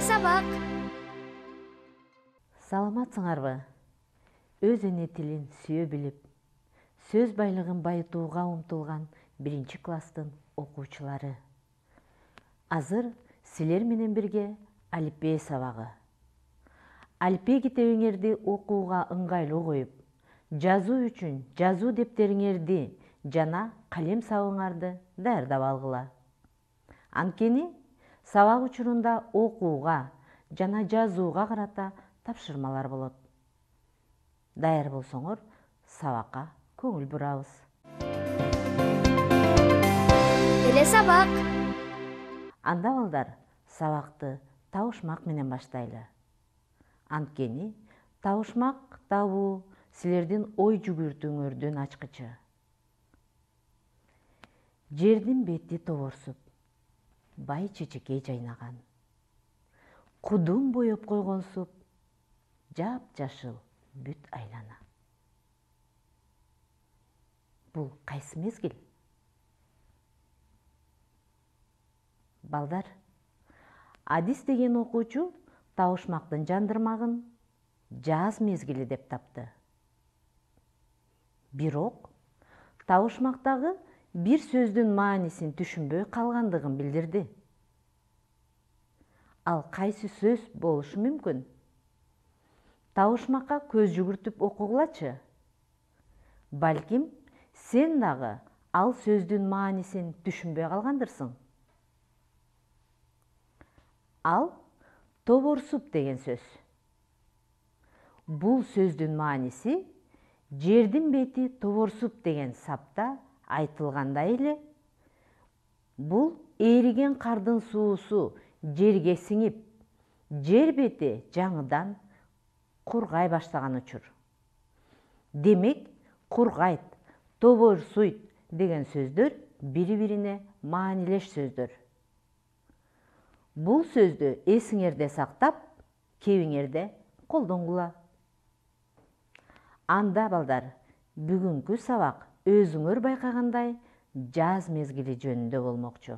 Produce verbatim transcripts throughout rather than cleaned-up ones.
сабак. Саламатсыңарбы? Өз эне тилин сүйө билип, сөз байлыгын байытууга умтулган биринчи класстын окуучулары. Азыр силер менен бирге алифбе сабагы. Алифбе китебиңерди окууга ыңгайлуу коюп, жазуу үчүн жазуу дептериңерди жана калем сабыңарды даярдап алгыла. Анткени сабак учурунда окууга жана жазууга карата тапшырмалар болот. Даяр болсоңор, сабакка көңүл бурабыз. Эле сабак. Анда балдар, сабакты табышмак менен баштайлы. Анткени табышмак табуу силердин ой жүгүртүүңөрдүн ачкычы. Жердин бети тоборсуп, бай чечекей жайнаган. Кудум боеп койгонсуп, жап-жашыл бүт айлана. Бул кайсы мезгил? Балдар, Адис деген окуучу табышмактын жандырмагын жаз мезгили деп тапты. Бирок табышмактагы бир сөздүн маанисин түшүнбөй калгандыгын билдирди. Ал кайсы сөз болушу мүмкүн? Табышмакка көз жүгүртүп окугулачы. Балким, сен дагы ал сөздүн маанисин түшүнбөй калгандырсың. Ал тоборсуп деген сөз. Бул сөздүн мааниси жердин бети тоборсуп деген сапта айтылгандай эле, бул ээриген кардын суусу жерге сиңип, жер бети жаңыдан кургай баштаган учур. Демек, кургайт, тоборсуйт деген сөздөр бири-бирине маанилеш сөздөр. Бул сөздү эсиңерде сактап, кебиңерде колдонгула. Анда балдар, бүгүнкү сабак өзүңөр байкагандай жаз мезгили жөнүндө болмокчу.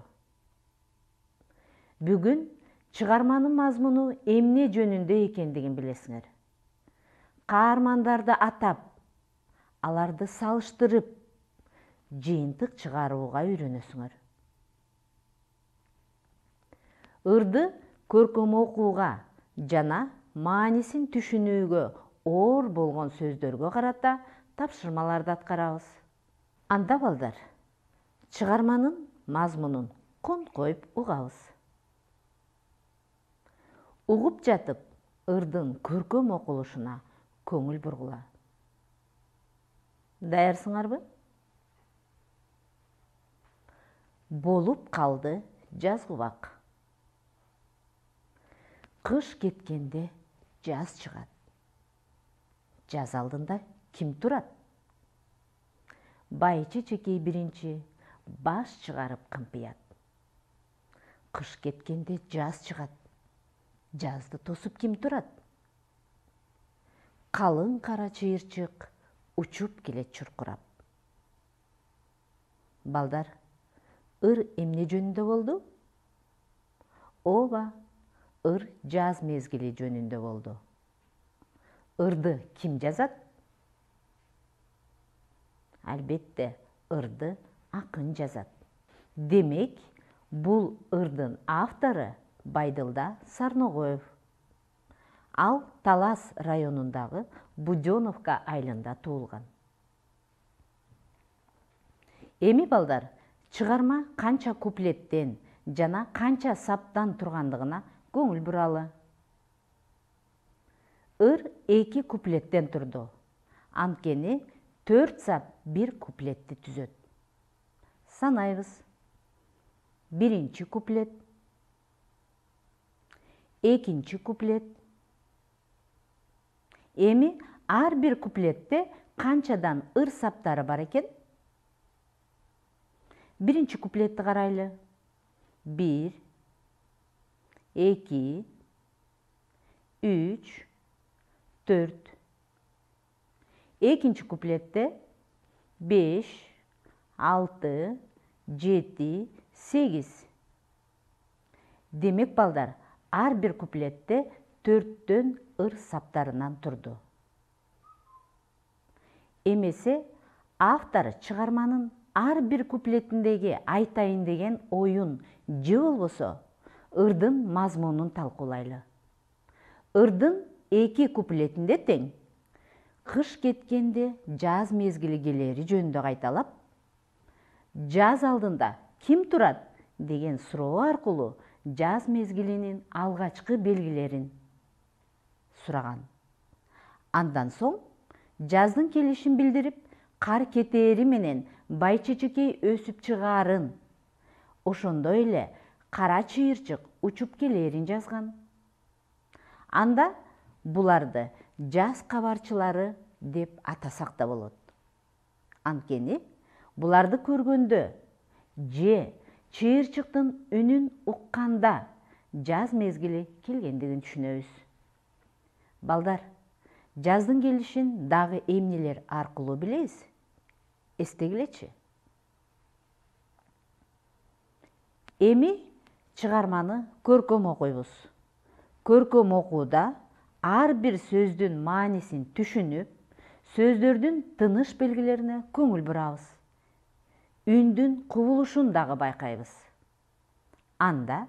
Бүгүн чыгарманын мазмуну эмне жөнүндө экендигин билесиңер. Каармандарды атап, аларды салыштырып, жыйынтык чыгарууга үйрөнөсүңөр. Ырды көркөм окууга жана маанисин түшүнүүгө оор болгон сөздөргө карата тапшырмаларды аткарабыз. Анда балдар, чыгарманын мазмунун конткоюп угабыз. Угуп жатып, ырдын көркөм окулушуна көңүл бургула. Даярсыңарбы? Болуп калды жазгыбак. Кыш кеткенде жаз чыгат. Жаз алдында ким турат? Бай чечекей биринчи баш чыгарып кымпыят. Кыш кеткенде жаз чыгат. Жазды тосуп ким турат? Калың кара чыйырчык учуп келет чуркурап. Балдар, ыр эмне жөнүндө болду? Ооба, ыр жаз мезгили жөнүндө болду. Ырды ким жазат? Албетте, ырды акын жазат. Демек, бул ырдын автору Байдылда Сарногоев. Ал Талас районундагы Будёновка айылында туулган. Эми балдар, чыгарма канча куплеттен жана канча саптан тургандыгына көңүл буралы. Ыр эки куплеттен турду. Анткени төрт сап бир куплетти түзөт. Санайбыз. Биринчи куплет, экинчи куплет. Эми ар бир куплетте канчадан ыр саптары бар экен? Биринчи куплетти карайлы. Бир, эки, үч, төрт. Экинчи куплетте беш, алты, жети, сегиз. Демек балдар, ар бир куплетте төрттөн ыр саптарынан турду. Эмесе автор чыгарманын ар бир куплетиндеги айтайын деген оюн же болбосо ырдын мазмунун талкуулайлы. Ырдын эки куплетинде тең кыш кеткенде жаз мезгили келери жөнүндө кайталап, жаз алдында ким турат деген суроо аркылуу жаз мезгилинин алгачкы белгилерин сураган. Андан соң жаздын келишин билдирип, кар кетери менен бай-чечекей өсүп чыгаарын, ошондой эле кара чыйырчык учуп келерин жазган. Анда буларды жаз кабарчылары деп атасак да болот. Анткени буларды көргөндө же чыйырчыктын үнүн укканда жаз мезгили келгендигин түшүнөбүз. Балдар, жаздын келишин дагы эмнелер аркылуу билебиз? Эстегилечи. Эми чыгарманы көркөм окуйбуз. Көркөм окууда ар бир сөздүн маанисин түшүнүп, сөздөрдүн тыныш белгилерине көңүл бурабыз. Үндүн кубулушун дагы байкайбыз. Анда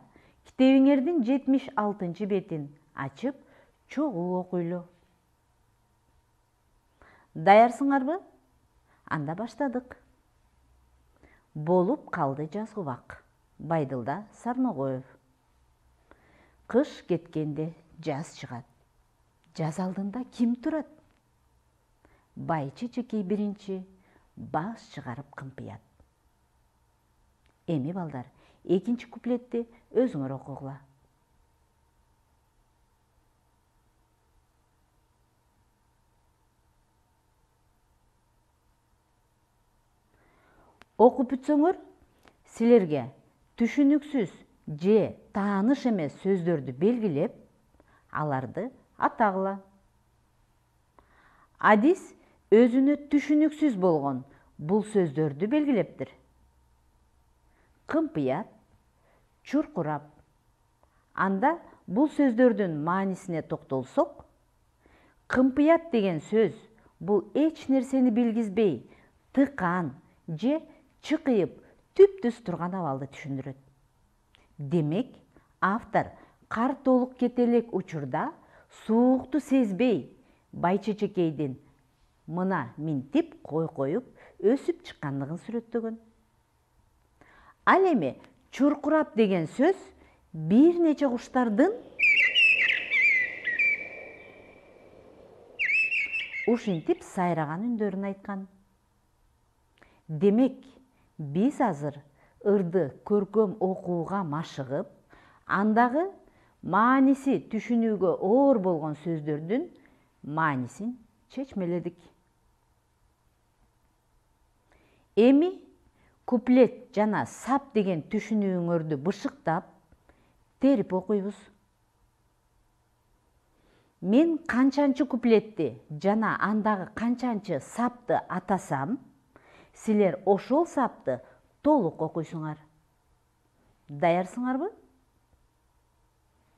китебиңердин жетимиш алтынчы бетин ачып, чогуу окуйлу. Даярсыңарбы? Анда баштадык. Болуп калды жазгы убак. Байдылда Сарногоев. Кыш кеткенде жаз чыгат. Жаз алдында ким турат? Бай-чечекей биринчи баш чыгарып кымпыят. Эми балдар, экинчи куплетти өзүңөр окугула. Окуп бүтсөңөр, силерге түшүнүксүз же тааныш эмес сөздөрдү белгилеп, аларды атагыла. Адис өзүнө түшүнүксүз болгон бул сөздөрдү белгилептир. Кымпыят, чуркурап. Анда бул сөздөрдүн маанисине токтолсок, кымпыят деген сөз бул эч нерсени билгизбей, тыкан же чыкыйып түп-түз турган абалды түшүндүрөт. Демек, автор кар толук кете элек учурда суукту сезбей, бай-чечекейдин мына минтип кой коюп өсүп чыккандыгын сүрөттөгөн. Ал эми чуркурап деген сөз бир нече куштардын ушинтип сайраган үндөрүн айткан. Демек, биз азыр ырды көркөм окууга машыгып, андагы мааниси түшүнүүгө оор болгон сөздөрдүн маанисин чечмеледик. Эми куплет жана сап деген түшүнүүңөрдү бышыктап, терип окуйбуз. Мен канчанчы куплетти жана андагы канчанчы сапты атасам, силер ошол сапты толук окуйсуңар. Даярсыңарбы?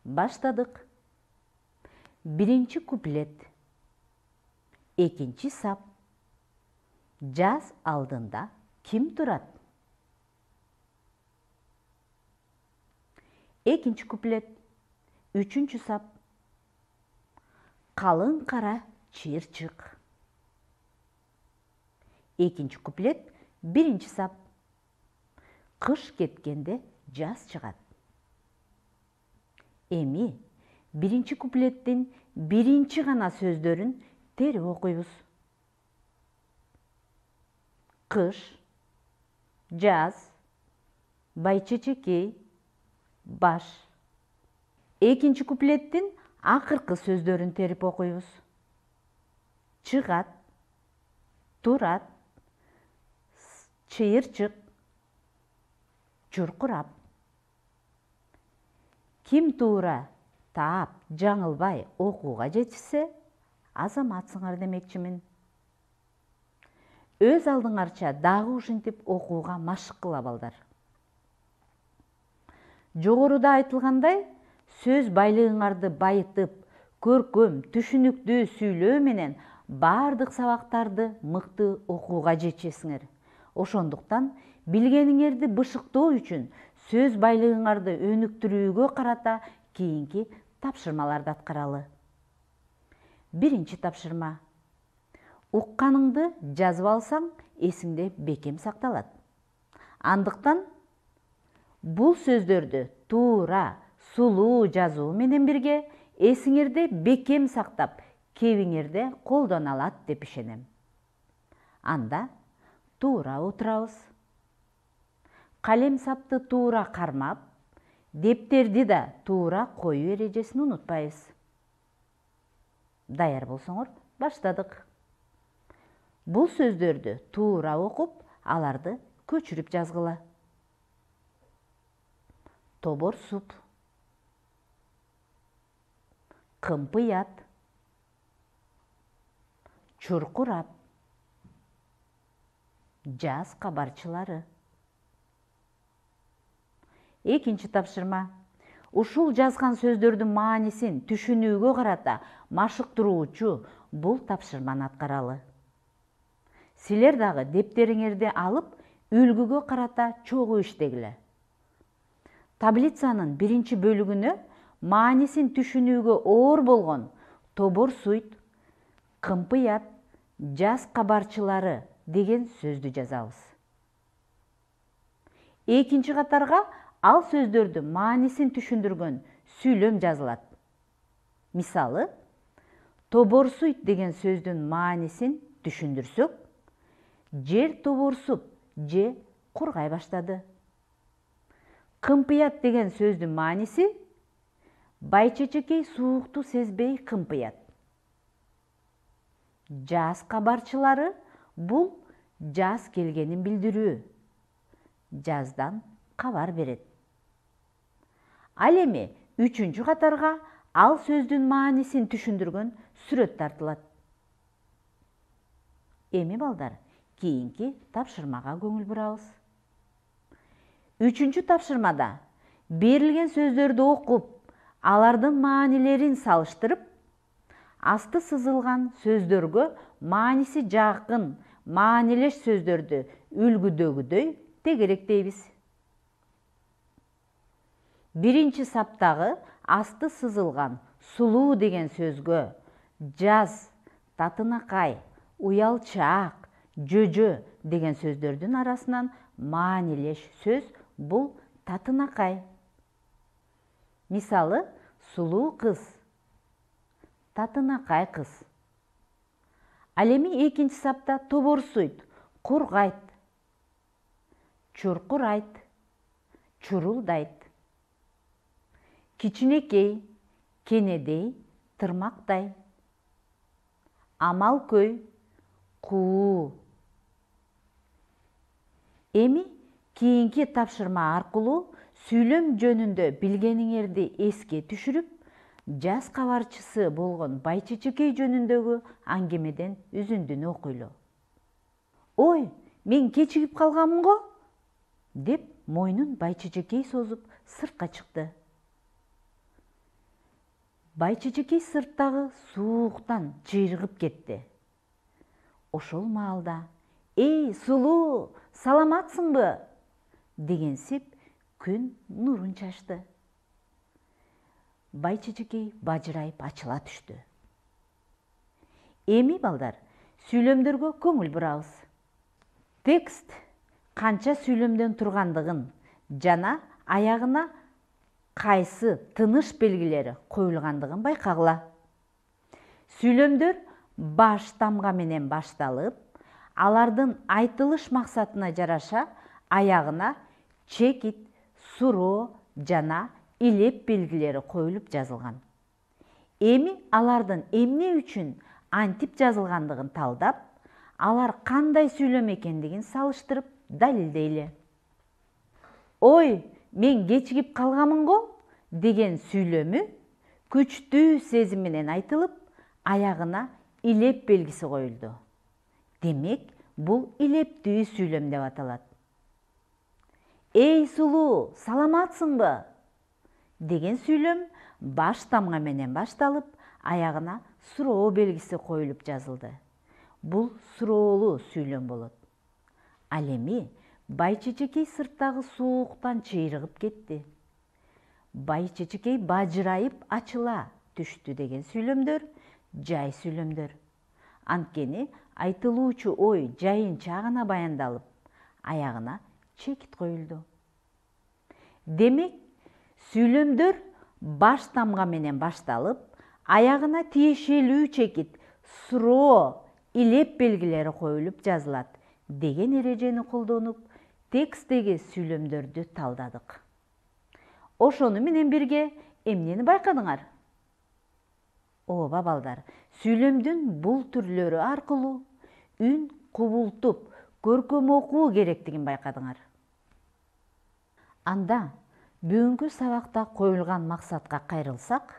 Баштадык. Биринчи куплет. Экинчи сап. Жаз алдында ким турат? Экинчи куплет. Үчүнчү сап. Калың кара чыйырчык. Экинчи куплет. Биринчи сап. Кыш кеткенде жаз чыгат. Эми биринчи куплеттин биринчи гана сөздөрүн терип окуйбуз. Кыш, жаз, бай-чечекей, баш. Экинчи куплеттин акыркы сөздөрүн терип окуйбуз. Чыгат, турат, чыйырчык, чуркурап. Ким туура таап, жаңылбай окууга жетишсе, азаматсыңар демекчимин. Өз алдыңарча дагы ушинтип окууга машык кыла балдар. Жогоруда айтылгандай, сөз байлыгыңарды байытып, көркөм, түшүнүктүү сүйлөө менен бардык сабактарды мыкты окууга жетишесиңер. Ошондуктан билгениңерди бышыктоо үчүн сөз байлыгыңарды өнүктүрүүгө карата кийинки тапшырмаларды аткаралы. Биринчи тапшырма. Укканыңды жазып алсаң, эсиңде бекем сакталат. Андыктан бул сөздөрдү туура, сулуу жазуу менен бирге эсиңерде бекем сактап, кебиңерде колдоно алат деп ишенем. Анда туура отурабыз. Калем сапты туура кармап, дептерди да туура коюу эрежесин унутпайбыз. Даяр болсоңор, баштадык. Бул сөздөрдү туура окуп, аларды көчүрүп жазгыла. Тоборсуп, кымпыят, чуркурап, жаз кабарчылары. Экинчи тапшырма. Ушул жазган сөздөрдүн маанисин түшүнүүгө карата машыктыруучу бул тапшырманы аткаралы. Силер дагы дептериңерди алып, үлгүгө карата чогуу иштегиле. Таблицанын биринчи бөлүгүнө маанисин түшүнүүгө оор болгон тоборсуйт, кымпыят, жаз кабарчылары деген сөздү жазабыз. Экинчи катарга ал сөздөрдү маанисин түшүндүргөн сүйлөм жазылат. Мисалы, тоборсуйт деген сөздүн маанисин түшүндүрсөк, жер тоборсуп же кургай баштады. Кымпыят деген сөздүн мааниси байчечекей суукту сезбей кымпыят. Жаз кабарчылары бул жаз келгенин билдирүү. Жаздан кабар берет. Ал эми үчүнчү катарга ал сөздүн маанисин түшүндүргөн сүрөт тартылат. Эми балдар, кийинки тапшырмага көңүл бурабыз. Үчүнчү тапшырмада берилген сөздөрдү окуп, алардын маанилерин салыштырып, асты сызылган сөздөргө мааниси жакын, маанилеш сөздөрдү үлгүдөгүдөй тегеректейбиз. Биринчи саптагы асты сызылган сулуу деген сөзгө жаз, татынакай, уялчаак, жөжө деген сөздөрдүн арасынан маанилеш сөз бул татынакай. Мисалы, сулуу кыз, татынакай кыз. Ал эми экинчи сапта тоборсуйт, кургайт, чуркурайт, чурулдайт. Кичинекей, кенедей, тырмактай. Амалкөй, куу. Эми кийинки тапшырма аркылуу сүйлөм жөнүндө билгениңерди эске түшүрүп, жаз кабарчысы болгон байчечекей жөнүндөгү аңгемеден үзүндүнү окуйлу. Ой, мен кечигип калганмын го, деп мойнун байчечекей созуп сыртка чыкты. Байчечекей сырттагы сууктан чыйрыгып кетти. Ошол маалда «Эй, сулуу, саламатсыңбы?» дегенсип күн нурун чачты. Байчечекей бажырайып ачыла түштү. Эми балдар, сүйлөмдөргө көңүл бурабыз. Текст канча сүйлөмдөн тургандыгын жана аягына кайсы тыныш белгилери коюлгандыгын байкагыла. Сүйлөмдөр баш тамга менен башталып, алардын айтылыш максатына жараша аягына чекит, суроо жана илеп белгилери коюлуп жазылган. Эми алардын эмне үчүн антип жазылгандыгын талдап, алар кандай сүйлөм экендигин салыштырып далилдейли. Ой, мен кечигип калганмын го деген сүйлөмү күчтүү сезим менен айтылып, аягына илеп белгиси коюлду. Демек, бул илептүү сүйлөм деп аталат. Эй, сулуу, саламатсыңбы? деген сүйлөм баш тамга менен башталып, аягына суроо белгиси коюлуп жазылды. Бул суроолуу сүйлөм болот. Ал эми бай чечекей сырттагы сууктан чыйрыгып кетти. Бай чечекей бажырайып ачыла түштү деген сүйлөмдөр жай сүйлөмдөр. Анткени айтылуучу ой жайынча гана баяндалып, аягына чекит коюлду. Демек, сүйлөмдөр баш тамга менен башталып, аягына тиешелүү чекит, суроо, илеп белгилери коюлуп жазылат деген эрежени колдонуп, текстеги сүйлөмдөрдү талдадык. Ошону менен бирге эмнени байкадыңар? Ооба балдар, сүйлөмдүн бул түрлөрү аркылуу үн кубултуп, көркөм окуу керектигин байкадыңар. Анда бүгүнкү сабакта коюлган максатка кайрылсак,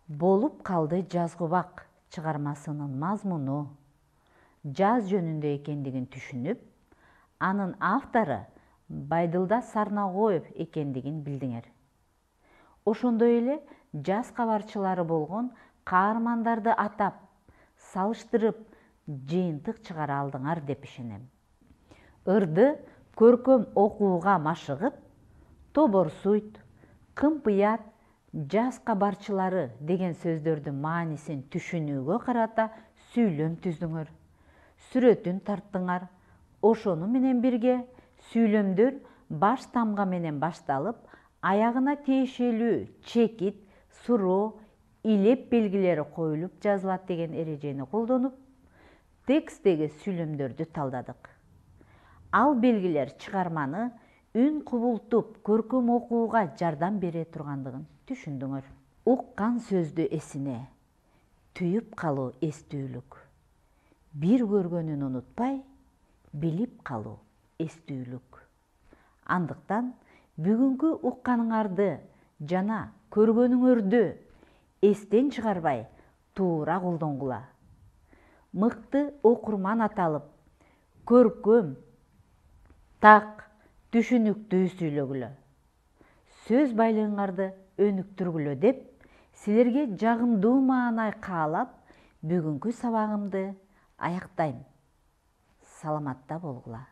болуп калды жазгыбак чыгармасынын мазмуну жаз жөнүндө экендигин түшүнүп, анын автору Байдылда Сарнагоев экендигин билдиңер. Ошондой эле жаз кабарчылары болгон каармандарды атап, салыштырып, жыйынтык чыгара алдыңар деп ишенем. Ырды көркөм окууга машыгып, тоборсуйт, кымпыят, жаз кабарчылары деген сөздөрдүн маанисин түшүнүүгө карата сүйлөм түздүңөр, сүрөтүн тарттыңар. Ошону менен бирге сүйлөмдөр баш тамга менен башталып, аягына тиешелүү чекит, суроо, илеп белгилери коюлуп жазылат деген эрежени колдонуп, текстеги сүйлөмдөрдү талдадык. Ал белгилер чыгарманы үн кубултуп, көркөм окууга жардам бере тургандыгын түшүндүңөр. Уккан сөздү эсине түйүп калуу эстүүлүк. Бир көргөнүн унутпай, билип калуу эстүүлүк. Андыктан бүгүнкү укканыңарды жана көргөнүңөрдү эстен чыгарбай, туура колдонгула. Мыкты окурман аталып, көркөм, так, түшүнүктүү сүйлөгүлө. Сөз байлыгыңарды өнүктүргүлө деп, силерге жагымдуу маанай каалап, бүгүнкү сабагымды аяктайм. Саламатта болгула.